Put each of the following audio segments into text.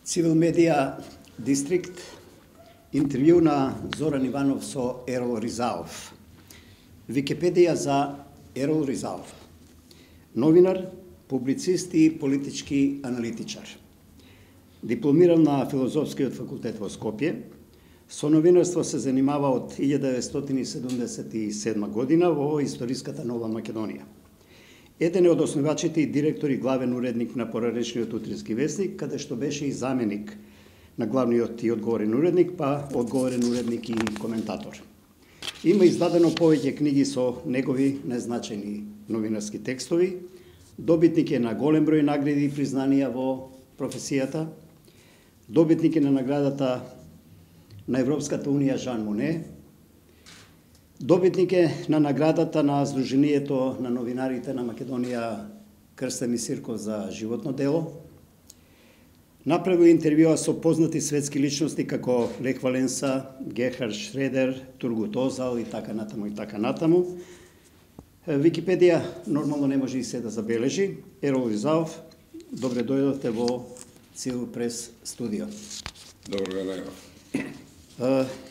Цивил Медија Дистрикт, интервју на Зоран Иванов со Ерол Ризаов. Википедија за Ерол Ризаов. Новинар, публицист и политички аналитичар. Дипломиран на Филозофскиот факултет во Скопје, со новинарство се занимава од 1977 година во историската Нова Македонија. Еден е од основачите и директор и главен уредник на Пораречниот утрински весник, каде што беше и заменик на главниот и одговорен уредник, па одговорен уредник и коментатор. Има издадено повеќе книги со негови незначајни новинарски текстови, добитник е на голем број награди и признанија во професијата, добитник е на наградата на Европската унија Жан Моне, добитник е на наградата на Сдруженијето на новинарите на Македонија Крстен Мисирков за животно дело, направил интервјуа со познати светски личности како Лех Валенса, Герхард Шредер, Тургут Озал и така натаму и така натаму. Википедија нормално не може и се да забележи. Ерол Ризаов, добре дојдовте во Цивил Прес студио. Добро ден.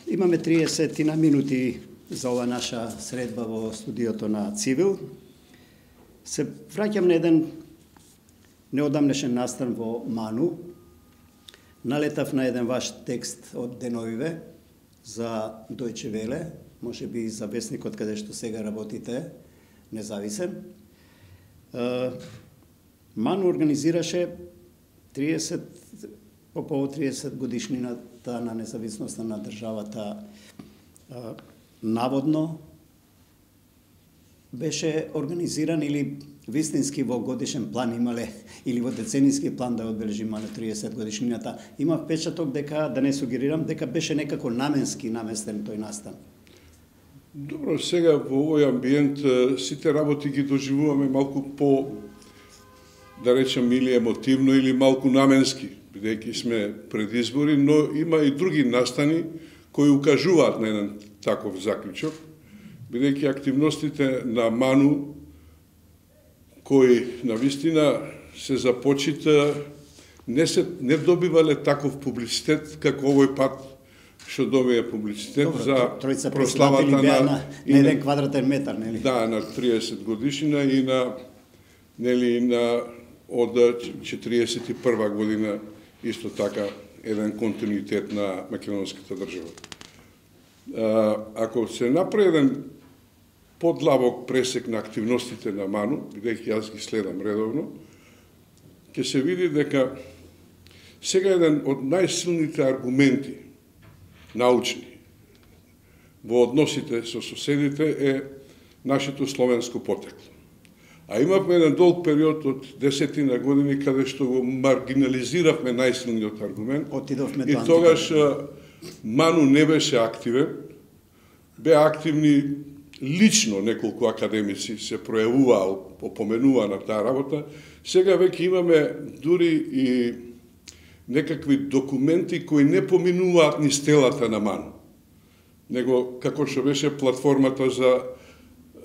Имаме 30 на минути за ова наша средба во студиото на Цивил. Се враќам на еден неодамнешен настан во Ману. Налетав на еден ваш текст од деновиве за Дојче Веле, може би за весникот каде што сега работите, независен. Ману организираше 30 по повод 30 годишнината на независноста на државата. Наводно беше организиран или вистински во годишен план имале, или во деценијски план да одбележи Ману 30 годишнината. Има впечаток дека, да не сугерирам, дека беше некако наменски наместен тој настан. Добро, сега во овој амбиент сите работи ги доживуваме малку по, да речем, или емотивно, или малку наменски, бидејќи сме пред избори, но има и други настани кои укажуваат на еден таков заклучок, бидејќи активностите на Ману, кои навистина се започита, не добивале таков публицитет како овој пат што добија публицитет. Добро, за прославата на еден квадратен метар, нели? Да, на 30 годишнина и на од 41 година исто така еден континуитет на македонската држава. Ако се направи еден подлабок пресек на активностите на Ману, бидејќи јас ги следам редовно, ќе се види дека сега еден од најсилните аргументи научни во односите со соседите е нашето словенско потекло. А имавме еден долг период од 10 години каде што го маргинализиравме најсилниот аргумент. И тогаш Ману не беше активен, беа активни лично неколку академици се пројавуваа, опоменуваа на таа работа. Сега веќе имаме дури и некакви документи кои не поминуваат ни стелата на Ману, него како што беше платформата за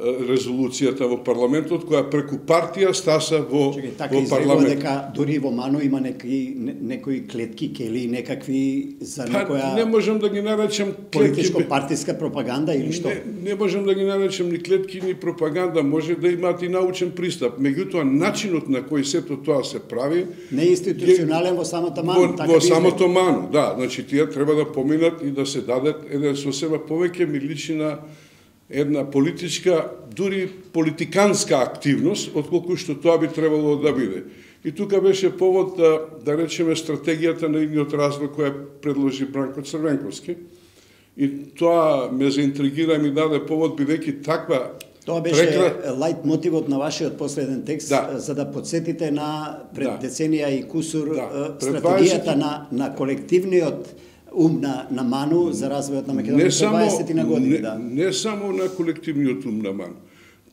резолуцијата во парламентот, која преку партија стаса во парламент. Дека дури во Ману има некои клетки, кели, некакви за некоја... Не можам да ги наречам политичко-партиска пропаганда или што? Не можам да ги наречам ни клетки, ни пропаганда, може да имаат и научен пристап. Меѓутоа, начинот на кој сето тоа се прави... Не е институционален во самата Ману. Во самото Ману, да. Значи, тие треба да поминат и да се дадат еден сосема повеќе ми личи на една политичка, дури политиканска активност, отколку што тоа би требало да биде. И тука беше повод да речеме стратегијата на идниот развој која предложи Бранко Црвенковски. И тоа ме заинтригира и ми даде повод, бидејќи таква... Тоа беше лајт мотивот на вашиот последен текст, за да подсетите на пред деценија и кусур стратегијата на колективниот ум на Ману за развојот на Македонија за 20 на години. Не само на колективниот ум на Ману.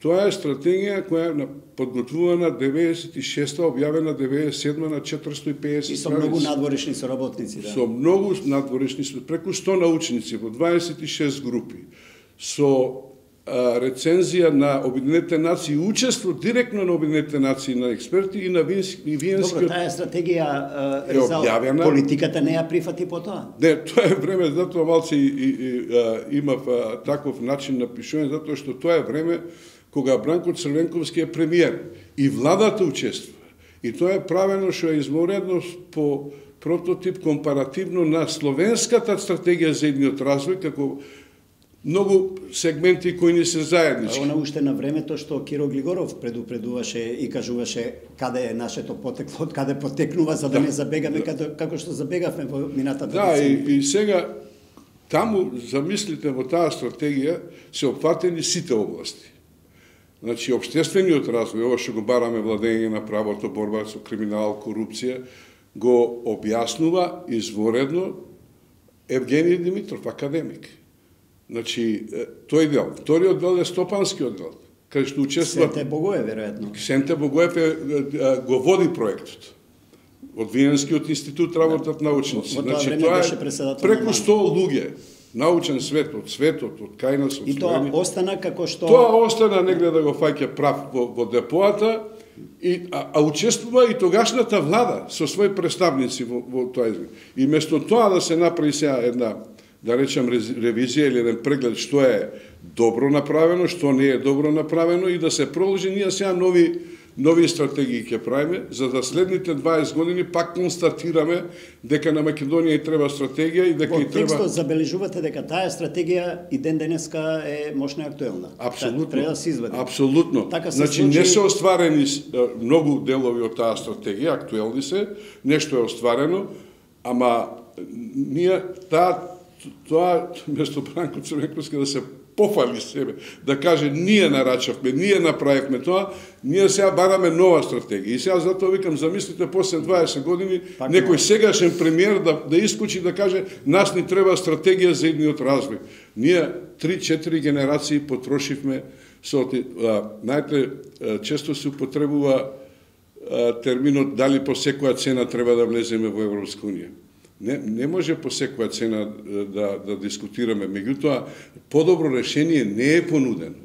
Тоа е стратегија која е подготвувана 96-та, објавена 97-та на 450 и со многу надворешни соработници. Со многу надворешни, преку 100 научници во 26 групи, со рецензија на Обединетите нации, учество директно на Обединетите нации, на експерти и на Виенскиот... Добро, таа стратегија е објавена. Политиката не ја прифати по тоа. Не, тоа е време, затоа малци имав таков начин на пишување, затоа што тоа е време кога Бранко Црвенковски е премиер и владата учествува. И тоа е правено што е изморедно по прототип компаративно на словенската стратегија за едниот развој, како многу сегменти кои не се заеднички. Она уште на времето што Киро Глигоров предупредуваше и кажуваше каде е нашето потекло, од каде потекнува, за да не забегаме како што забегавме во минатата деценија. Да, и сега таму, замислите, во таа стратегија се опфатени сите области. Значи, општествениот развој, ова што го бараме владење на правото, борба со криминал, корупција, го објаснува изворедно Евгений Димитров, академик. Значи, тој дел. Вториот дел е стопанскиот дел, кај што учествува... Сенте Богоев, веројатно. Сенте Богоев го води проектот. Од Виенскиот институт работат научници. Значи, тоа е преку 100 луѓе. Научен свет, од кај нас, од и тоа остана како што... Тоа остана негде да го фаќа прав во депоата, а учествува и тогашната влада со своји представници во тоа изглед. И место тоа да се направи сега една, да речем, ревизија или еден преглед што е добро направено, што не е добро направено и да се продолжи, ние сега нови стратегии ќе правиме, за да следните 20 години пак констатираме дека на Македонија и треба стратегија и дека и треба... Во текстот забележувате дека таа стратегија и ден денеска е мощно актуелна. Апсолутно. Треба да се извади. Апсолутно. Значи не се остварени многу делови од таа стратегија, актуелни се, нешто е остварено, ама ние тоа место Бранко Црвенковски да се пофали себе, да каже ние нарачавме, ние направивме тоа, ние сега бараме нова стратегија. И сега затоа викам, замислите, после 20 години, некој сегашен премиер да искочи да каже нас ни треба стратегија за едниот развој. Ние 3-4 генерации потрошивме знаете, често се употребува терминот дали по секоја цена треба да влеземе во Европска унија. Не може по секоја цена да дискутираме, меѓутоа подобро решение не е понудено.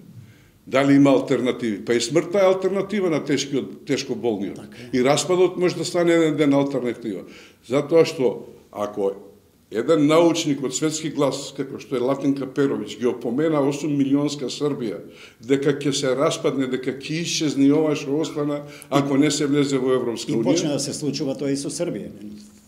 Дали има алтернативи? Па и смртта е алтернатива на тешко болниот. И распадот може да стане еден ден алтернатива. Затоа што ако еден научник од светски глас, како што е Латинка Перовиќ, ги опомена 8 милионска Србија, дека ќе се распадне, дека ќе исчезне ова што остана, ако не се влезе во Европска унија. И почна да се случува тоа и со Србија.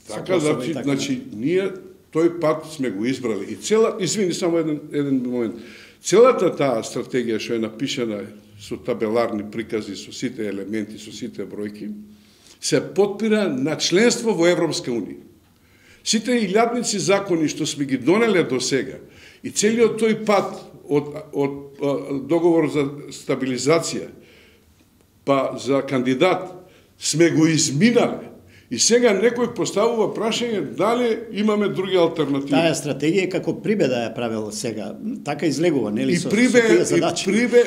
Така, значи, ние тој пат сме го избрали. И извини, само еден момент. Целата таа стратегија што е напишана со табеларни прикази, со сите елементи, со сите бројки, се потпира на членство во Европска унија. Сите илјадници закони што сме ги донеле до сега и целиот тој пат од договор за стабилизација па за кандидат сме го изминале. И сега некој поставува прашање дали имаме други алтернативи. Таа стратегија како Прибе да ја правил сега, така излегува, нели со тие задачи. И Прибе,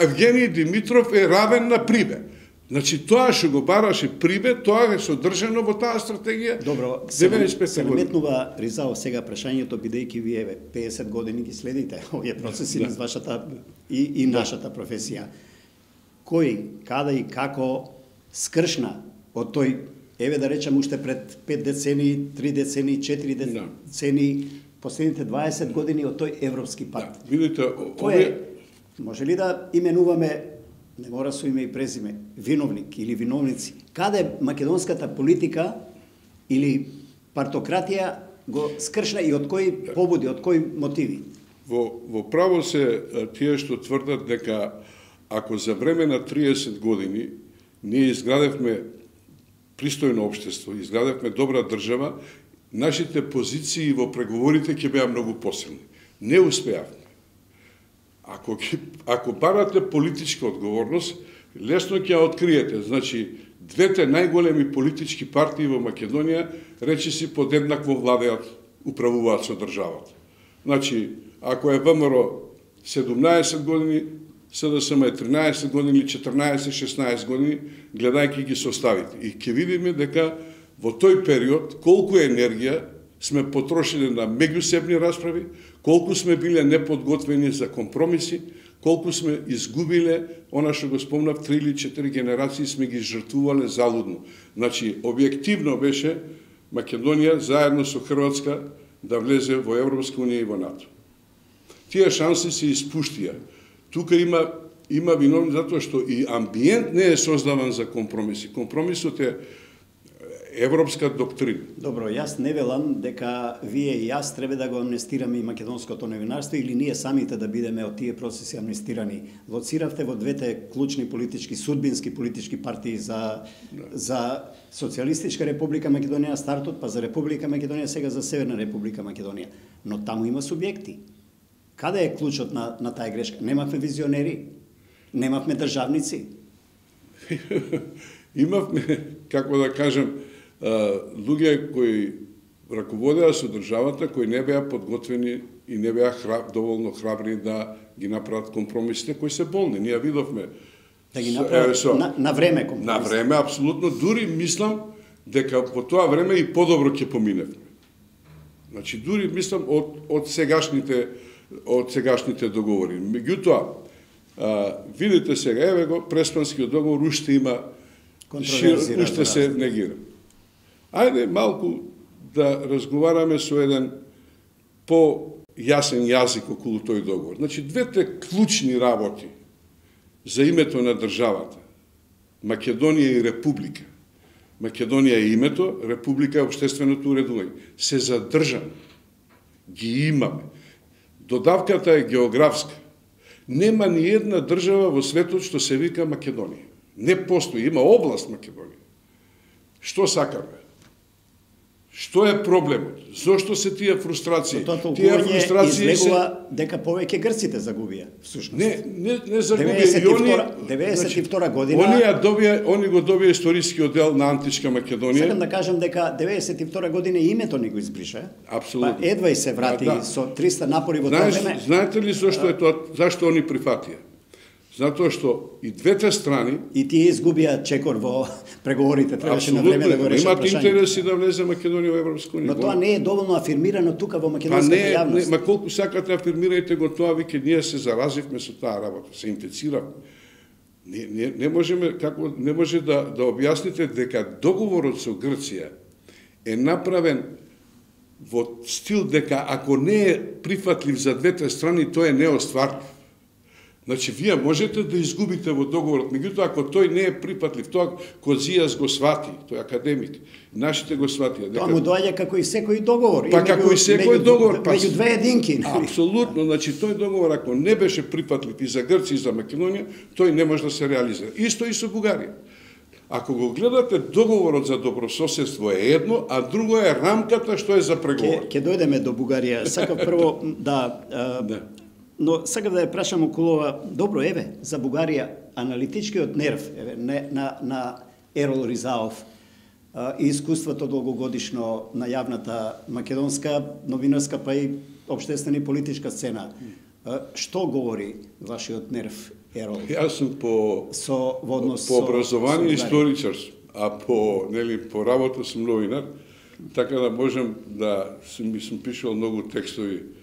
Евгений Димитров е равен на Прибе. Значи тоа што го бараше Прибе, тоа е содржано во таа стратегија. Добро, се наметнува Ризао сега прашањето, бидејќи вие 50 години ги следите овие процеси на вашата и нашата професија. Кој, каде и како скршна од тој, еве да речем уште пред 5 децени, 3 децени, 4 децени, последните 20 години од тој европски пат. Видите, може ли да именуваме, не мора со име и презиме, виновник или виновници, каде македонската политика или партократија го скршна и од кои побуди, од кои мотиви? Во право се тие што тврдат дека ако за време на 30 години ние изградевме пристојно општество, изградевме добра држава, нашите позиции во преговорите ќе беа многу посилни. Не успеавме. Ако барате политичка одговорност, лесно ќе ја откриете. Значи, двете најголеми политички партии во Македонија речиси подеднакво владеат, управуваат со државата. Значи, ако е ВМРО 17 години, СДСМ е 13 години или 14-16 години, гледајќи ги составите. И ќе видиме дека во тој период колку енергија сме потрошили на меѓусебни расправи, колку сме биле неподготвени за компромиси, колку сме изгубиле, она што го спомнав, 3 или 4 генерации сме ги жртвувале залудно. Значи, објективно беше Македонија заедно со Хрватска да влезе во Европска унија и во НАТО. Тие шанси се испуштија. Тука има виновни затоа што и амбиент не е создаван за компромиси. Компромисот е европска доктрина. Добро, јас не велам дека вие и јас треба да го амнестираме и македонското новинарство или ние самите да бидеме од тие процеси амнестирани. Лоциравте во двете клучни политички, судбински политички партии за Социјалистичка република Македонија стартот, па за Република Македонија, сега за Северна република Македонија. Но таму има субјекти. Каде е клучот на таа грешка? Немавме визионери, немавме државници. Имавме, како да кажем, луѓе кои раководеа со државата, кои не беа подготвени и не беа доволно храбри да ги направат компромисите кои се болни. Ние видовме да ги направат на време компромисите. На време, апсолутно. Дури мислам дека во тоа време и подобро ќе поминевме. Значи, дури мислам од сегашните договори. Меѓутоа, видите сега, еве го, Преспанскиот договор уште има уште се негира. Ајде малку да разговараме со еден по-јасен јазик околу тој договор. Значи, двете клучни работи за името на државата, Македонија и Република. Македонија е името, Република е општественото уредување. Се задржаме. Ги имаме. Додавката е географска. Нема ни една држава во светот што се вика Македонија. Не постои, има област Македонија. Што сакаме? Што е проблемот? Зошто се тие фрустрации? Тие фрустрации излегува дека повеќе грците загубија, всушност. Не загубија. 92 година. Они го добија историскиот дел на античка Македонија. Сакам да кажам дека 92 година името ни го избриша. Апсолутно. Па едва и се врати со 300 напори во тоа време. Знаете ли зошто е тоа? Зашто они прифатија? Затоа што и двете страни и тие изгубија чекор во преговорите, требаше на време да го решат прашањето. Имат интереси да влезе Македонија во Европска унија. Но тоа не е доволно афирмирано тука во македонската јавност. Ма колку сакате афирмирајте го тоа, веќе ние се заразивме со таа работа, се инфициравме. Не може да објасните дека договорот со Грција е направен во стил дека ако не е прифатлив за двете страни, тој е неостварлив. Значи, вие можете да изгубите во договорот, меѓутоа, ако тој не е припатлив, тоа Козијас го свати, тој е академик, нашите го сватија. Тоа му доаѓа како и секој договор. Па како и секој договор. Меѓу две единки. Апсолутно, значи, тој договор, ако не беше припатлив и за Грција и за Македонија, тој не може да се реализира. Исто и со Бугарија. Ако го гледате, договорот за добрососедство е едно, а друго е рамката што е за преговори. Ќе дојдеме до Бугарија. Сакав прво но сакав да ја прашам околу ова. Добро, еве, за Бугарија, аналитичкиот нерв на Ерол Ризаов и искуството долгогодишно на јавната македонска, новинарска, па и општествена и политичка сцена. Што говори вашиот нерв, Ерол? Јас сум по образование историчар, а по работа сум новинар, така да можам да сум пишал многу текстови.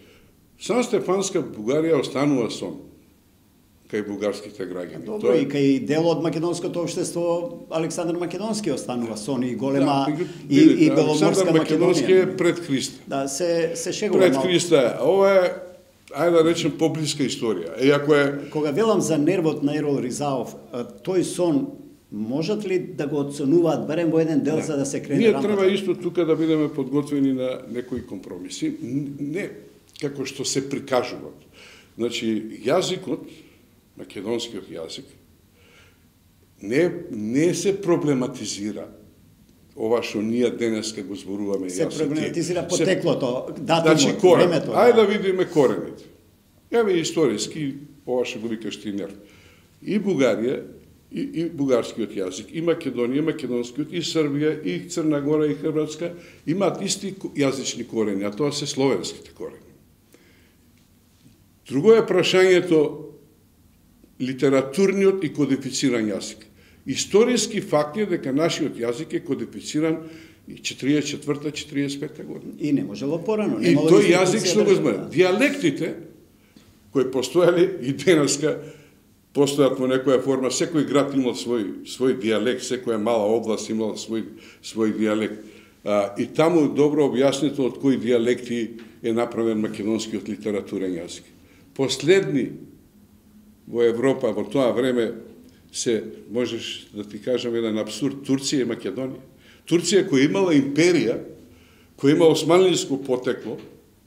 Сан Стефанска Бугарија останува сон кај бугарските граѓани. Добро, и кај дел од македонското општество Александар Македонски останува сон и голема и беломорска Александар Македонски е пред Христа. Да, се шегува пред Христа. Ова е, ајде да речем, поблиска историја. Кога велам за нервот на Ерол Ризаов, тој сон можат ли да го оценуваат барем во еден дел за да се крене рампата? Ние треба исто тука да бидеме подготвени на некои компромиси. Не како што се прикажуваат. Значи, јазикот, македонскиот јазик, не се проблематизира ова што ние денеска го зборуваме. Се проблематизира потеклото, датумот, времето. Ајде да видиме корените. Еве историски, ова што го викаш ти нерв. И Бугарија, и бугарскиот јазик, и Македонија, македонскиот, и Србија, и Црна Гора, и Хрватска, имаат исти јазични корени, а тоа се словенските корени. Друго е прашањето литературниот и кодифициран јазик. Историски факт е дека нашиот јазик е кодифициран 44-45 година. И не можело порано. И тој јазик што го знае. Диалектите кои постоеле и денеска постојат во некоја форма. Секој град имал свој дијалект, секоја мала област имала свој дијалект. И таму добро објаснето од кои дијалекти е направен македонскиот литературен јазик. Последни во Европа во тоа време се, можеш да ти кажам еден абсурд, Турција и Македонија. Турција која имала империја, која има османлиско потекло,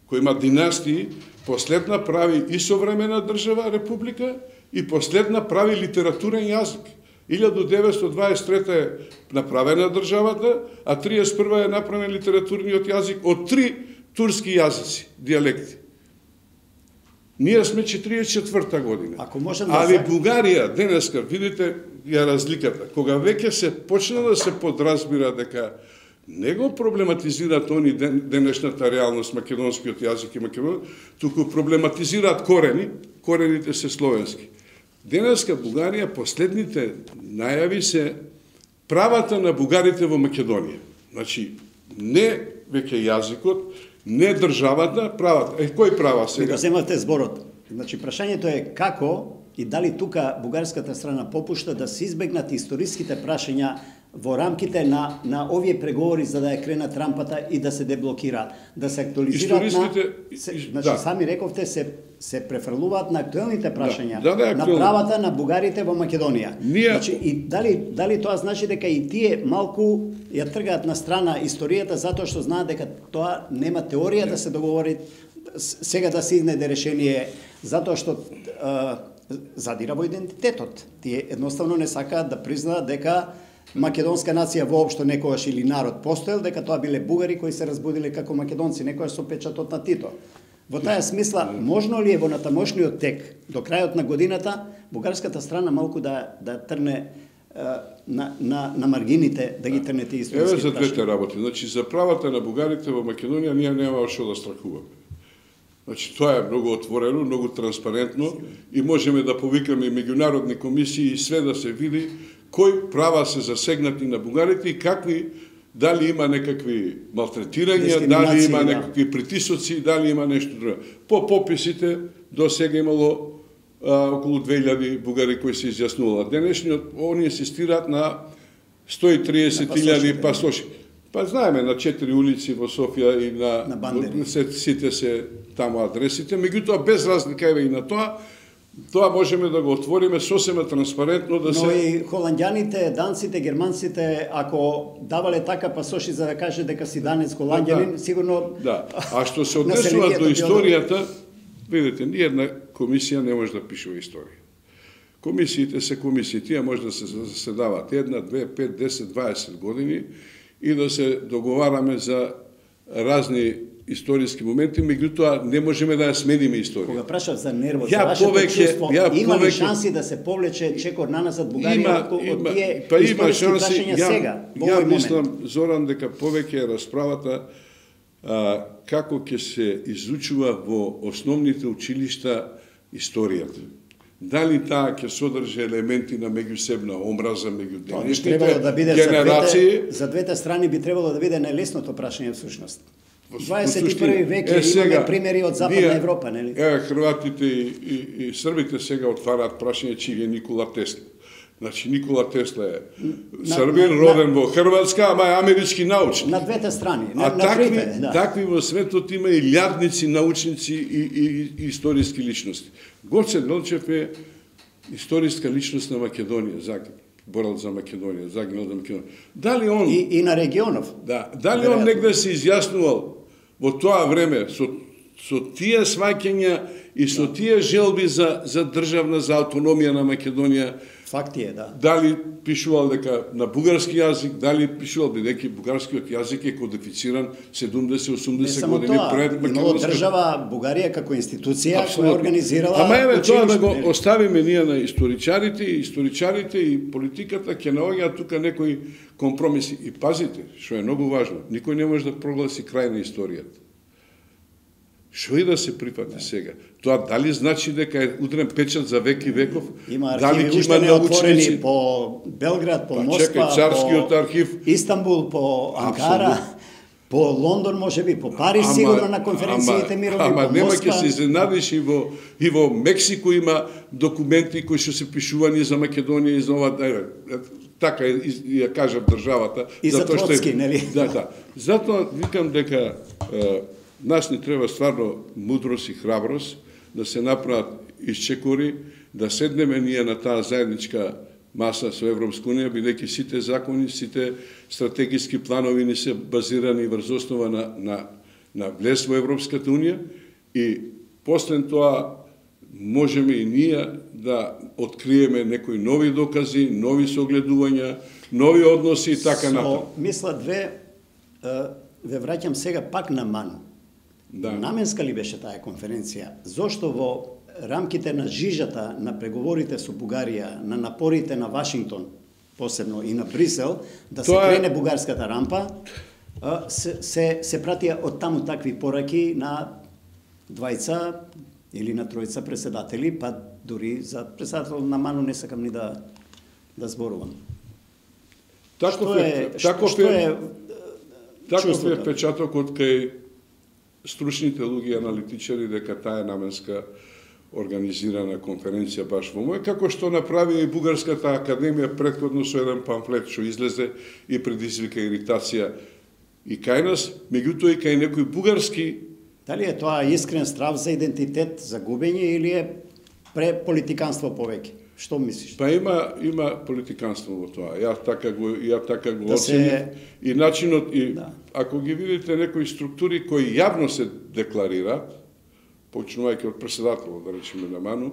која има династии, последна прави и современа држава, република, и последна прави литературен јазик. 1923 е направена државата, а 31 е направен литературниот јазик од 3 турски јазици, дијалекти. Ние сме 44-та година. Али Бугарија, денеска, видите ја разликата, кога веќе се почна да се подразбира дека не го проблематизираат они денешната реалност, македонскиот јазик и македонски, туку проблематизираат корените се словенски. Денеска Бугарија, последните најави се правата на бугарите во Македонија. Значи, не веќе јазикот, не државата, правата. Кој права сега? Го земавте зборот. Значи, прашањето е како и дали тука бугарската страна попушта да се избегнат историските прашања во рамките на овие преговори за да ја кренат рампата и да се деблокира, да се актуализираат значи, сами рековте, се префрлуваат на актуелните прашања, на правата на бугарите во Македонија. Значи, и дали тоа значи дека и тие малку ја тргаат на страна историјата затоа што знаат дека тоа нема теорија да се договори сега да се изнајде решение, затоа што задира во идентитетот. Тие едноставно не сакаат да признаат дека македонска нација воопшто некогаш или народ постоел, дека тоа биле бугари кои се разбудиле како македонци, некогаш со печатот на Тито. Во таа смисла, можно ли е во натамошниот тек, до крајот на годината, бугарската страна малку да трне на маргините, да ги трне тие историски прашања? Еве за двете работи. Значи, за правата на бугарите во Македонија ние нема што да страхуваме. Значи, тоа е многу отворено, многу транспарентно и можеме да повикаме меѓународни комисии и све да се види кои права се засегнати на бугарите и какви, дали има некакви малтретирања, дали има некакви притисоци, дали има нешто друго. По пописите до сега имало околу 2000 бугари кои се изјаснувалат. Денешниот они асистираат на 130.000 пасоши. Па знаеме на 4 улици во Софија и на сите се таму адресите, меѓутоа без разлика еве и на тоа можеме да го отвориме сосема транспарентно да се... Но и холандјаните, данците, германците, ако давале така пасоши за да каже дека си данец холандјанин, сигурно... Да, а што се однесува до историјата, видите, ниједна комисија не може да пишува историја. Комисиите се комисии, тие може да се заседават 1, 2, 5, 10, 20 години и да се договараме за разни историски моменти, меѓутоа не можеме да ја смениме историја. Кога прашав за нервот, за вашето чувство, има ли шанси да се повлече чекор наназад Бугарија од тие историски прашања сега, во овој момент? Мислам, Зоран, дека повеќе е расправата како ќе се изучува во основните училишта историјата. Дали таа ќе содржи елементи на меѓусебна омраза меѓу денешните генерации? За двете страни би требало да биде најлесното прашање всушност. 21 век имаме примери од Западна Европа, нели? Хрватите и србите сега отвараат прашање чиј е Никола Тесла. Значи Никола Тесла е србин, роден во Хрватска, ама е амерички научник. На двете страни, такви во светот има и илјадници научници и историски личности. Гоце Делчев е историска личност на Македонија, борал за Македонија, загинал за Македонија. Дали он и на регионов? Да, дали он негде се изјаснувал во тоа време со тие сваќања и со тие желби за државна, за автономија на Македонија? Факти е, да. Дали пишувал дека на бугарски јазик, дали пишувал бидејќи бугарскиот јазик е кодифициран 70-80 години пред македонската. Имало држава Бугарија како институција која организирала училиште. Ама еве тоа да го оставиме ние на историчарите и политиката ќе наоѓаат тука некои компромиси. И пазите, што е многу важно, никој не може да прогласи крај на историјата. Што и да се прифати сега? Тоа дали значи дека е удрен печат за век и веков? Има архиви уште неотворени по Белград, по Москва, Царскиот архив, Истанбул, по Анкара. По Лондон може би, по Париж сигурно на конференциите мирови, ама по нема Москва. ќе се изненадиш и во Мексико има документи кои што се пишувани за Македонија и за ова, така ја кажам државата. И за Троцки, нели? Да. Затоа викам дека нас ни треба стварно мудрост и храброст да се направат исчекори, да седнеме ние на таа заедничка маса со Европска унија, бидејќи сите закони, сите стратегиски планови ни се базирани врз основа на влез во Европската унија и после тоа можеме и ние да откриеме некои нови докази, нови согледувања, нови односи и така натаму. Мисла ве враќам сега пак на Ману. Да. Наменска ли беше таа конференција? Зошто во рамките на жижата на преговорите со Бугарија, на напорите на Вашингтон, посебно и на Брисел, да се крене бугарската рампа, се пратија од таму такви пораки на двајца или на тројца председатели, па дури за председател на Ману не сакам ни да зборувам. Таков е впечатокот кај стручните луѓе аналитичари дека таа е наменска организирана конференција баш во мој, како што направи и Бугарската академија претходно со еден памфлет што излезе и предизвика иритација и кај нас, меѓутоа и кај некои бугарски. Дали е тоа искрен страв за идентитет, за губење или е преполитиканство повеќе? Што мислиш? Па има политиканство во тоа. Ја така го оценив и начинот и ако ги видите некои структури кои јавно се декларираат, почнувајќи од председателот, да речеме на Ману,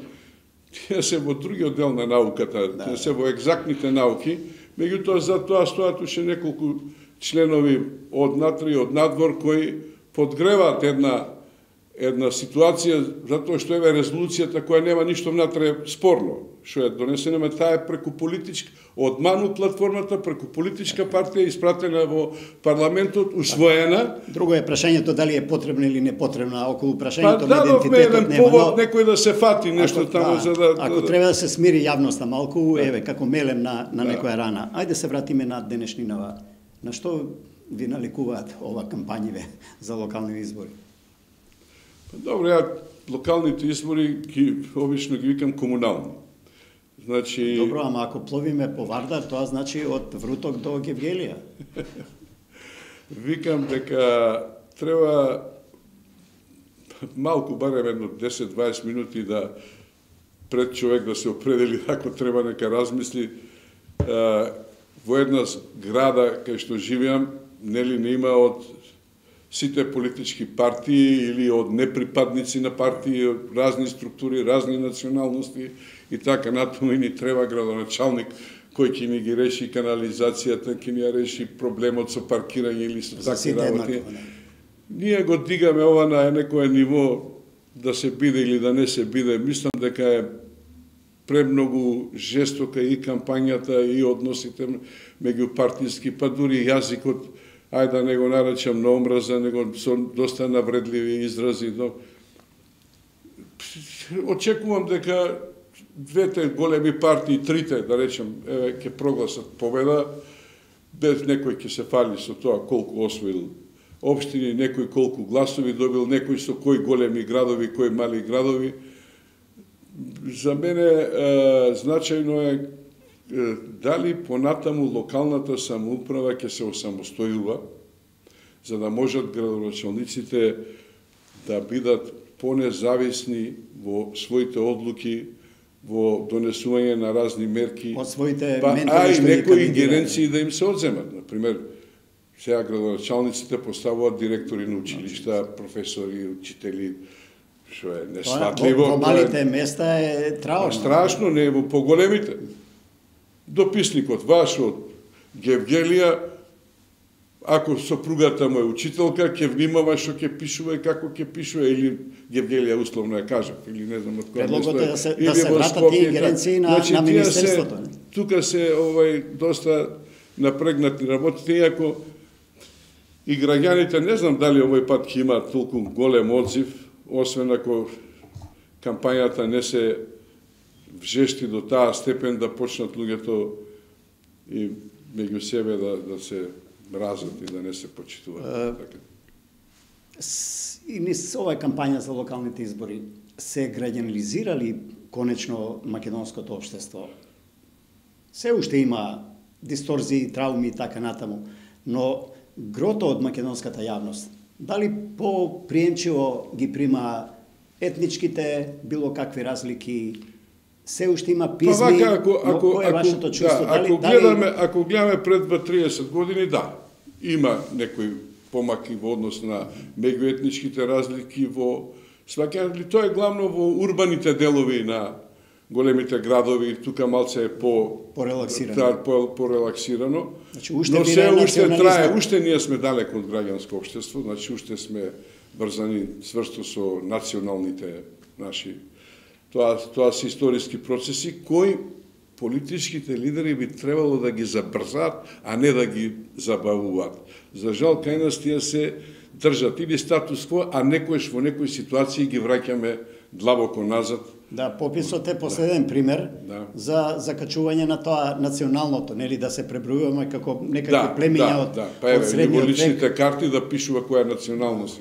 тие се во другиот дел на науката, тие се во екзактните науки, меѓутоа за тоа стоат уште неколку членови од натре и од надвор кои подгреваат една ситуација, затоа што еве резолуцијата која нема ништо внатре спорно, што е донесена, таа е преку политичка, од Ману платформата, преку политичка партија, испратена во парламентот, усвоена. Друго е прашањето дали е потребна или не потребна, околу прашањето на идентитетот нема. Еден повод, но некој да се фати нешто таму за да... Ако треба да се смири јавноста малку, еве, како мелем на некоја рана. Ајде се вратиме на денешнинава. На што ви наликуваат ова кампањиве за локални избори? Добро, ја локалните избори обично ги викам комунални. Значи... Добро, ама ако пловиме по Вардар, тоа значи од Вруток до Гевгелија. Викам дека треба малку, барем едно 10-20 минути да пред човек да се определи ако треба нека размисли. Во една града кај што живеам, нели не има од сите политички партии или од неприпадници на партии, разни структури, разни националности и така натаму, и ни треба градоначалник кој ќе ни ги реши канализацијата, ќе ни ја реши проблемот со паркирање или со такви работи. Ние го дигаме ова на некое ниво да се биде или да не се биде. Мислам дека е премногу жестока и кампањата и односите меѓу партиски, па дури јазикот, ајде да не го наречам на омраза, него со доста навредливи изрази. Очекувам дека двете големи партии, трите, да речем, ќе прогласат победа, без некој ќе се фали со тоа колку освоил општини, некој колку гласови добил, некој со кои големи градови, кои мали градови. За мене значајно е дали понатаму локалната самоуправа ќе се осамостојува, за да можат градоначалниците да бидат понезависни во своите одлуки, во донесување на разни мерки, од своите а и некои ингеренции да им се одземат. Например, сега градоначалниците поставуваат директори на училишта, професори, учители, што е несватливо. Во малите места е траурно. Страшно, не е во поголемите. Дописникот ваш од Гевгелија, ако сопругата му е учителка, ќе внимава што ќе пишува и како ќе пишува, или Гевгелија условно ја кажа, или не знам од која место. Предлогот е да се вратат тие ингеренции на Министерството. Тука се доста напрегнати работите, иако и граѓаните, не знам дали овој пат ќе имаат толку голем одзив, освен ако кампањата не се вжешти до таа степен да почнат луѓето и меѓу себе мразат и да не се почитуваат. И низ оваа кампања за локалните избори се граѓанизирали конечно македонското општество. Се уште има дисторзии, трауми и така натаму, но грото од македонската јавност, дали по-приемчиво ги прима етничките, било какви разлики, се уште има пизми, но кој е вашето чувство? Ако гледаме пред 30 години, да, има некои помаки во однос на меѓуетничките разлики во сваќање, тоа е главно во урбаните делови на големите градови, тука малце е порелаксирано. Значи, но се уште трае, уште ние сме далеко од граѓанско општество, значи уште сме врзани сврсто со националните наши. Тоа се историски процеси кои политичките лидери би требало да ги забрзат, а не да ги забавуваат. За жал, кај нас тие се држат или статус кво, а некојаш во некои ситуации ги враќаме длабоко назад. Да, пописот е последен пример за закачување на тоа националното, нели да се пребројуваме како некакви племиња од средниот век. Во личните карти да пишува која е националност.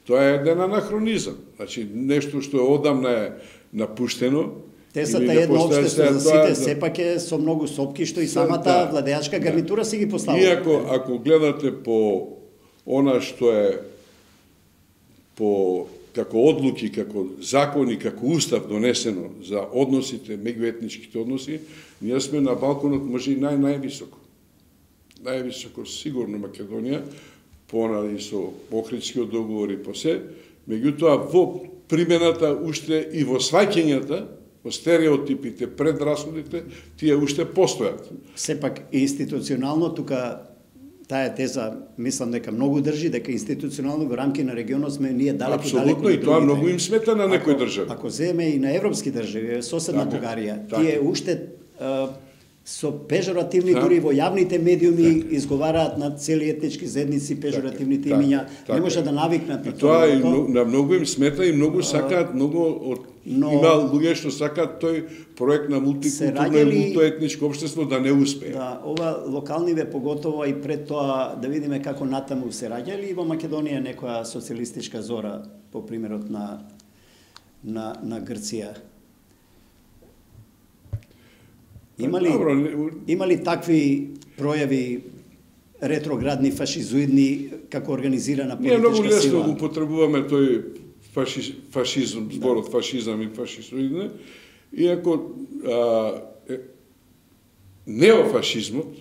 Тоа е еден анахронизам. Значи, нешто што одамна е напуштено. Тесата е едно општество за сите, сепак е со многу сопки, што и самата владеачка гарнитура си ги поставува. И ако гледате по она што е по како одлуки, како закони, како устав донесено за односите, меѓуетничките односи, ние сме на балконот може и највисоко. Највисоко сигурно Македонија, и со Охридскиот договор и по се, меѓутоа во примената уште и во сваќањата, во стереотипите, предрасудите, тие уште постојат. Сепак институционално тука таа теза, мислам дека многу држи, дека институционално во рамки на регионот сме ние далеку. Апсолутно, и тоа многу им смета на некои држави. Ако земе и на европски држави, соседна Бугарија, тие уште со пежоративни дури во јавните медиуми изговараат на цели етнички заедници пежоративните имиња, не може да навикнат на тоа. И на многу им смета и многу сакаат, има луѓе што сакаат тој проект на мултикултурно и мултоетничко општество да не успее. Да, ова локалниве поготово и пред тоа да видиме како натаму се раѓали и во Македонија некоја социјалистичка зора по примерот на Грција. Има ли такви пројави ретроградни, фашизоидни, како организирана политичка сила? Ние многу лесно употребуваме тој фашизм, зборот фашизам и фашизоидне, иако неофашизмот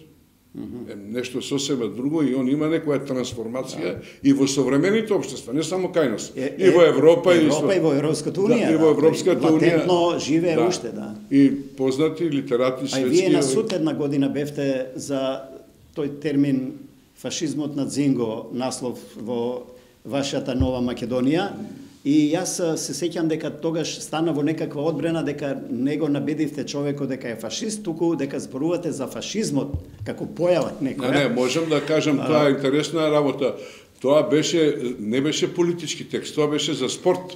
е нешто сосема друго и он има некоја трансформација и во современите општества, не само кај нас, и во Европа и во Европската унија. И во Европската унија. Латентно живее уште, да. И познати литерати светски. А вие на суд една година бевте за тој термин фашизмот на Дзинго, наслов во вашата Нова Македонија. И јас се сеќам дека тогаш стана во некаква одбрана дека не го набедивте човекот дека е фашист, туку дека зборувате за фашизмот како појава некоја. Не, можам да кажам, тоа е интересна работа. Тоа не беше политички текст, тоа беше за спорт.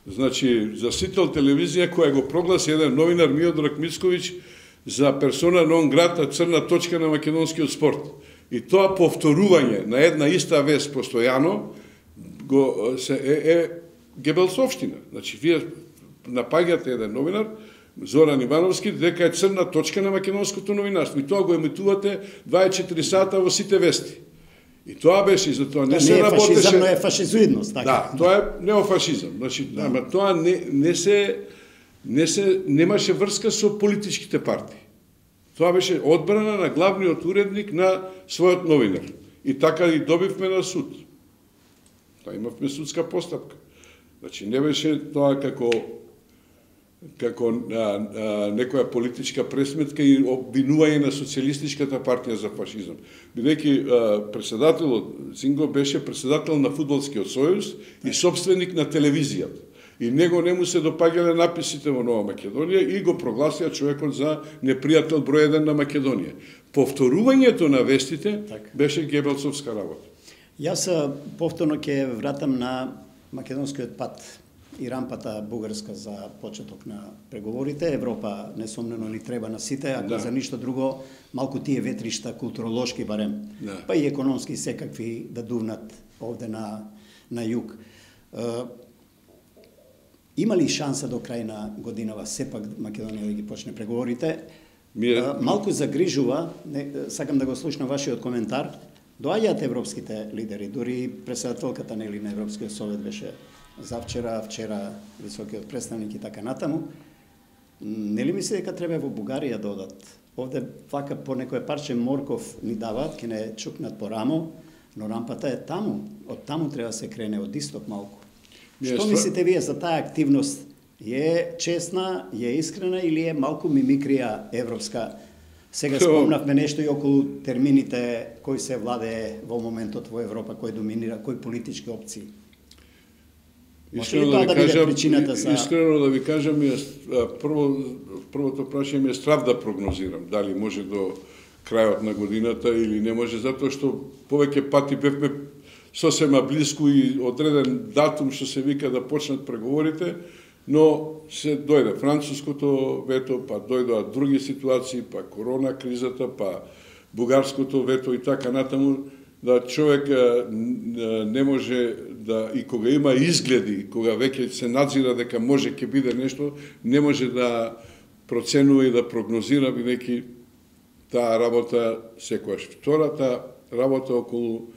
Значи, за Сител телевизија која го прогласи еден новинар Миодраг Мицковиќ за персона нон грата, црна точка на македонскиот спорт. И тоа повторување на една иста вест постојано е Гебелсовштина. Значи, вие напаѓате еден новинар, Зоран Ивановски, дека е црна точка на македонското новинарство. И тоа го емитувате 24 сата во сите вести. И тоа беше, и за тоа не се работеше... Не е фашизам, но е фашизоидност, така? Да, тоа е неофашизам. Значи, ама тоа немаше врска со политичките партии. Тоа беше одбрана на главниот уредник на својот новинар. И така и добивме на суд. Тоа имавме судска постапка. Значи, не беше тоа како некоја политичка пресметка и обвинување на социјалистичката партија за фашизам. Бидејќи председателот Дзинго беше председател на Фудбалскиот сојуз и собственик на телевизијата. И него не му се допаѓале написите во Нова Македонија и го прогласија човекот за непријател број 1 на Македонија. Повторувањето на вестите беше гебелсовска работа. Јас повторно ќе вратам на македонскиот пат. и рампата бугарска за почеток на преговорите. Европа несомнено ни треба на сите, ако за ништо друго, малку тие ветришта културолошки барем, па и економски секакви да дувнат овде на југ. Има ли шанса до крај на годинава сепак Македонија да ги почне преговорите? Малку загрижува, сакам да го слушнам вашиот коментар, доаѓаат европските лидери, дури председателката на Европскиот совет беше завчера, вчера високиот представник и така натаму. Нели мисли дека треба во Бугарија да одат? Овде вака по некој парче морков ни даваат, ке не чукнат по рамо, но рампата е таму. Од таму треба да се крене, од исток малку. Што мислите вие за таа активност? Е честна, е искрена или е малку мимикрија европска? Сега спомнавме нешто и околу термините кој се владее во моментот во Европа, кој доминира, кои политички опции. Искрено да ви кажам, првото прашање е страв да прогнозирам, дали може до крајот на годината или не може, затоа што повеќе пати бевме сосема блиску и одреден датум што се вика да почнат преговорите, но се дојде француското вето, па дојдоа други ситуации, па корона кризата, па бугарското вето и така натаму, да човек не може да, и кога има изгледи, кога веќе се надзира дека може ќе биде нешто, не може да проценува и да прогнозира, бидејќи таа работа секојаш. Втората работа околу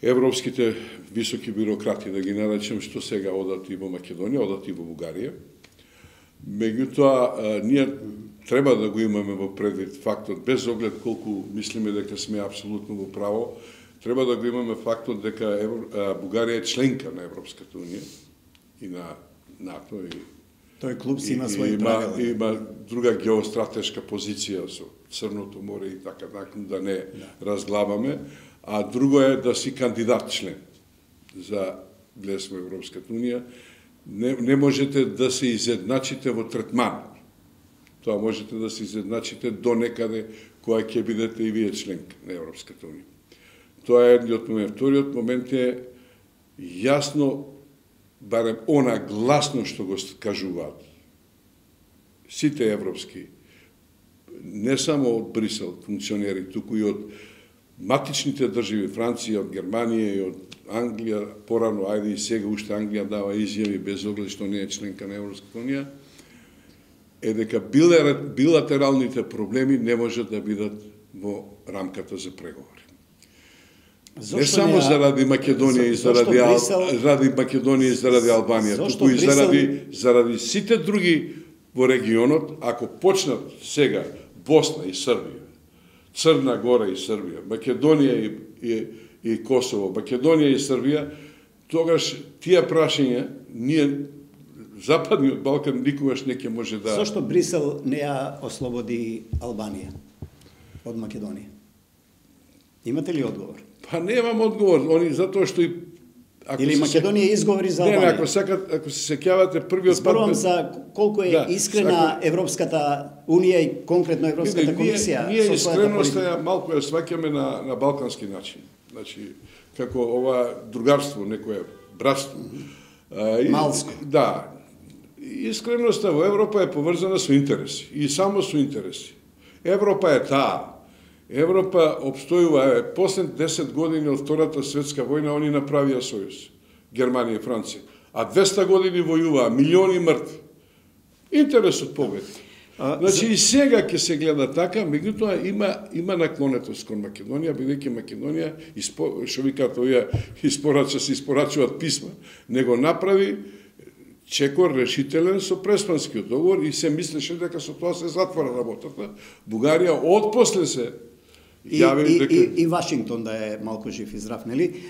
европските високи бюрократи, да ги наречем, што сега одат и во Македонија, одат и во Бугарија. Меѓутоа, ние треба да го имаме во предвид фактот, без оглед колку мислиме дека сме апсолутно во право, треба да го имаме фактот дека Бугарија е членка на Европската унија и на НАТО. Тој клуб си има своји правила. Има друга геостратешка позиција со Црното море и така, да не разглабаме. А друго е да си кандидат член за влез во Европската унија. Не можете да се изедначите во третман. Тоа можете да се изедначите до некаде која ќе бидете и вие член на Европската унија. Тоа е едниот момент. Вториот момент е јасно, барем она гласно што го кажуваат сите европски, не само од Брисел функционери, туку и од матичните држави, Франција, од Германија и од Англија, порано, ајде и сега уште Англија дава изјави без оглед што не е членка на Европската унија, е дека билатералните проблеми не можат да бидат во рамката за преговори. Не само заради Македонија и заради Македонија и заради Албанија, туку и заради сите други во регионот, ако почнат сега Босна и Србија, Црна Гора и Србија, Македонија и Косово, Македонија и Србија, тогаш тие прашања ние Западниот Балкан никогаш не ќе може да... Зошто Брисел не ја ослободи Албанија од Македонија? Имате ли одговор? Па немам одговор, они затоа што и или Македонија изговори за Албанија. Не, ако се сеќавате првиот пат... Зборувам за колку е искрена Европската унија и конкретно Европската комисија. Ние искреноста ја малку ја сваќаме на балкански начин. Значи, како ова другарство, некое братство. Малско. Да. Искреноста во Европа е поврзана со интереси. И само со интереси. Европа е таа. Европа обстојува, после 10 години од Втората светска војна, они направија сојуз, Германија и Франција. А 200 години војуваа, милиони мртви. Интересот победи. Значи и сега ќе се гледа така, меѓутоа има наклонетост кон Македонија, бидејќи Македонија, што викаат овие, се испорачуваат писма, него направи чекор решителен со Преспанскиот договор и се мислеше дека со тоа се затвора работата. Бугарија отпосле се И Вашингтон да е малку жив и здрав, нели?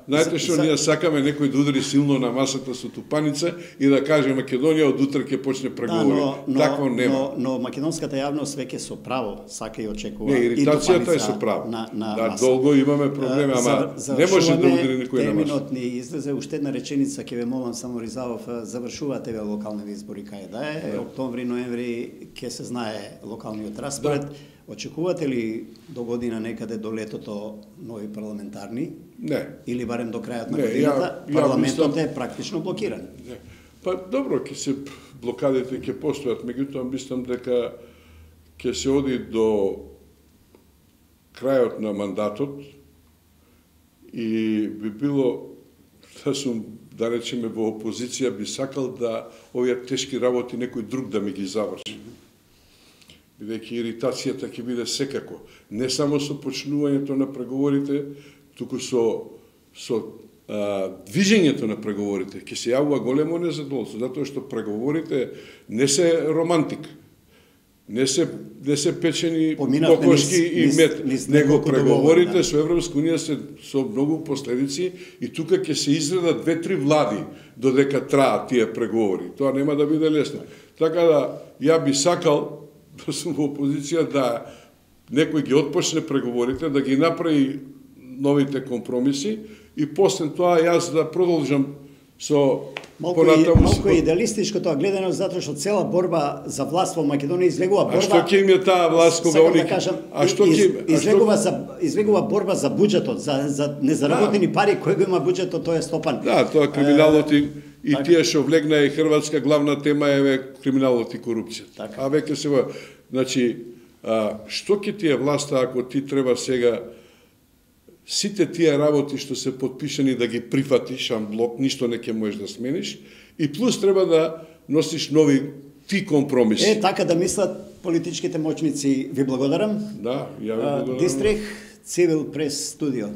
Знаете што ние сакаме некој да удари силно на масата со тупаница и да каже Македонија од утре ќе почне преговори. Такво нема. Но македонската јавност веќе со право сака и очекува. Не, иритацијата е со право. Да, долго имаме проблеми, ама не може да удари никој на масата. Терминот ни излезе, уште една реченица ќе ве молам само Ризалов, завршуваат еве локални избори кај да е, октомври, ноември ќе се знае локалниот распоред. Очекувате ли до година некаде до летото нови парламентарни? Не. Или барем до крајот на годината? Парламентот е практично блокиран. Не. Па добро, ќе се блокадите ќе постојат, меѓутоа мислам дека ќе се оди до крајот на мандатот и би било да сум, да речеме, во опозиција, би сакал да овие тешки работи некој друг да ми ги заврши. Бидејќи иритацијата ќе биде секако. Не само со почнувањето на преговорите, туку со движењето на преговорите. Ќе се јавува големо незадоволство, затоа што преговорите не се романтик. Не се печени кокошки и мед, него преговорите со Европска унија се со многу последици и тука ќе се изредат 2-3 влади додека траат тие преговори. Тоа нема да биде лесно. Така да, ја би сакал да сум во опозиција да некој ги отпочне преговорите, да ги направи новите компромиси и после тоа јас да продолжам со малку идеалистичко тоа гледано, затоа што цела борба за власт во Македонија излегува борба. А што ќе им е таа власт кога они излегува борба за буџетот, за незаработени пари кои го има буџетот, тоа е стопан. Да, тоа криминалот и тие што влегна и Хрватска главна тема е криминалот и корупција. А веќе се значи што ќе ти е власта ако ти треба сега сите тие работи што се подпишани да ги прифатиш анблок, ништо не ќе можеш да смениш, и плюс треба да носиш нови ти компромиси. Така да мислат политичките моćници. Ви благодарам. Да, ја ви благодарам. Дистрих Цивил Прес Студио.